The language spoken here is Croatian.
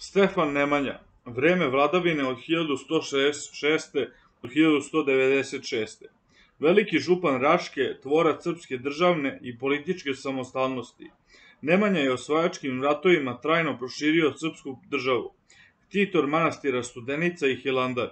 Stefan Nemanja, vreme vladavine od 1166. do 1196. Veliki župan Raške, tvorac srpske državne i političke samostalnosti. Nemanja je osvajačkim ratovima trajno proširio srpsku državu, ktitor manastira Studenica i Hilandar.